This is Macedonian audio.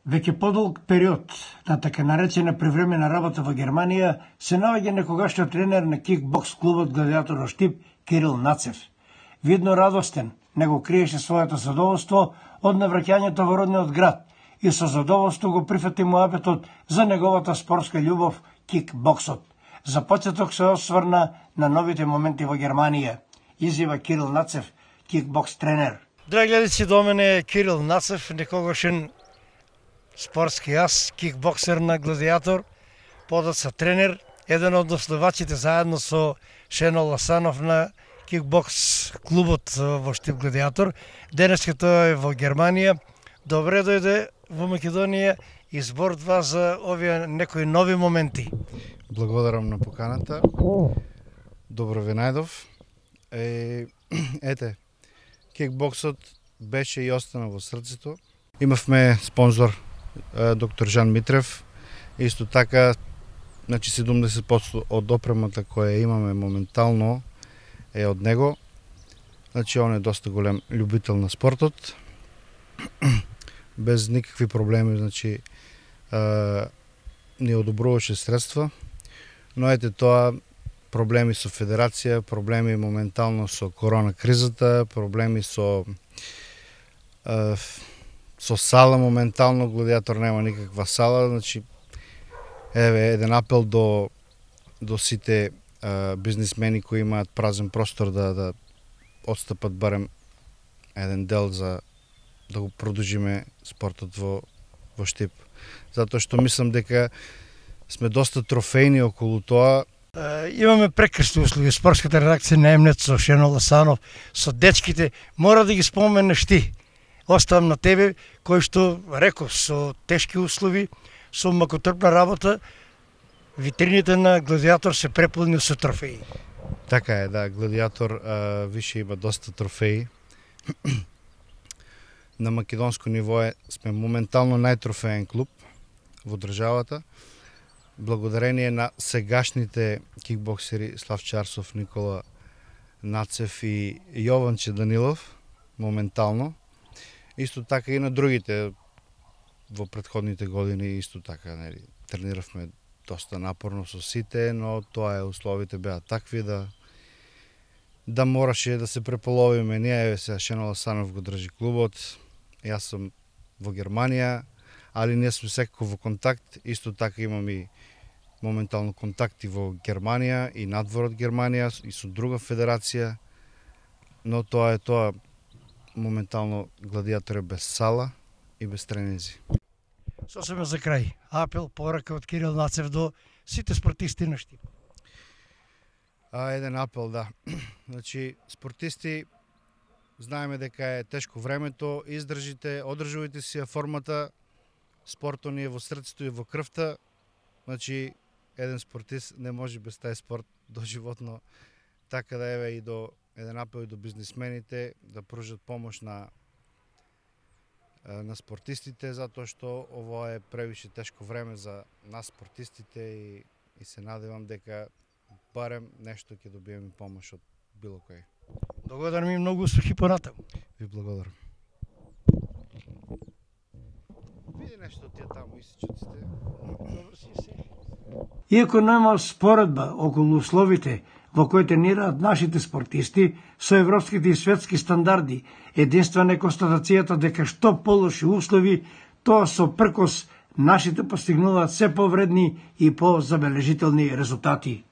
Веќе подолг период на така наречена привремена работа во Германија се наоѓа некогашниот тренер на кикбокс клубот Гладиатор во Штип Кирил Нацев. Видно радостен, него криеше своето задоволство од навраќањето во родниот град и со задоволство го прифати муабетот за неговата спортска љубов кикбоксот. За почеток се осврна на новите моменти во Германија, изјава Кирил Нацев, кикбокс тренер. Драги гледачи, до мене е Кирил Нацев, некогашен спортски ас, кикбоксер на Гладиатор, подоцна тренер, еден од основачите заедно со Шено Ласанов на кикбокс клубот во Штип Гладиатор. Денеска тој е во Германија. Добре дојде во Македонија и зборува за овие некои нови моменти. Благодарам на поканата. Добро ве најдов. Ете, кикбоксот беше и остана во срцето. Имавме спонзор доктор Жан Митрев. Исто така, значи 70% од опремата која имаме моментално е од него. Значи он е доста голем љубител на спортот. Без никакви проблеми, значи ни одобруваше средства. Но ете тоа, проблеми со федерација, проблеми моментално со корона кризата, проблеми со сала моментално, Гладиатор нема никаква сала, значи еве еден апел до сите бизнисмени кои имаат празен простор да отстапат барем еден дел за да го продолжиме спортот во Штип. Затоа што мислам дека сме доста трофејни околу тоа. Имаме прекрасни услови. Спортската редакција на Емнет со Шено Ласанов, со дечките, мора да ги споменеш ти. Оставам на тебе, кој што реков со тешки услови, со макотрпна работа, витрините на Гладиатор се преполни со трофеи. Така е, да, Гладиатор више има доста трофеи. На македонско ниво сме моментално најтрофеен клуб во државата. Благодарение на сегашните кикбоксери Славчо Арсов, Никола Нацев и Јованче Данилов, моментално. Исто така и на другите во претходните години, исто така, нели, трениравме доста напорно со сите, но тоа е, условите беа такви да мораше да се преполовиме. Ние сега Шено Ласанов го држи клубот, јас сум во Германија, али ние сме секако во контакт, исто така имам и моментално контакти во Германија и надвор од Германија и со друга федерација, но тоа е тоа, моментално Гладиатор е без сала и без тренинзи. Сосема за крај, апел, порака од Кирил Нацев до сите спортисти на Штип. Еден апел, да. Значи, спортисти, знаеме дека е тешко времето, издржите, одржувате си формата, спортот ни е во срцето и во крвта. Значи, еден спортист не може без тај спорт доживотно. Така да еве и до еден апел и до бизнисмените да пружат помош на спортистите, затоа што ово е превише тешко време за нас спортистите и се надевам дека барем нешто ќе добиеме помош од било кој. Благодарам и многу успехи понатаму. Ви благодарам. Види нешто тие таму исичоците. Добро си се. Иако нема споредба околу условите во кои тренираат нашите спортисти со европските и светски стандарди, единствена е констатацијата дека што полоши услови, тоа со пркос нашите постигнуваат се повредни и позабележителни резултати.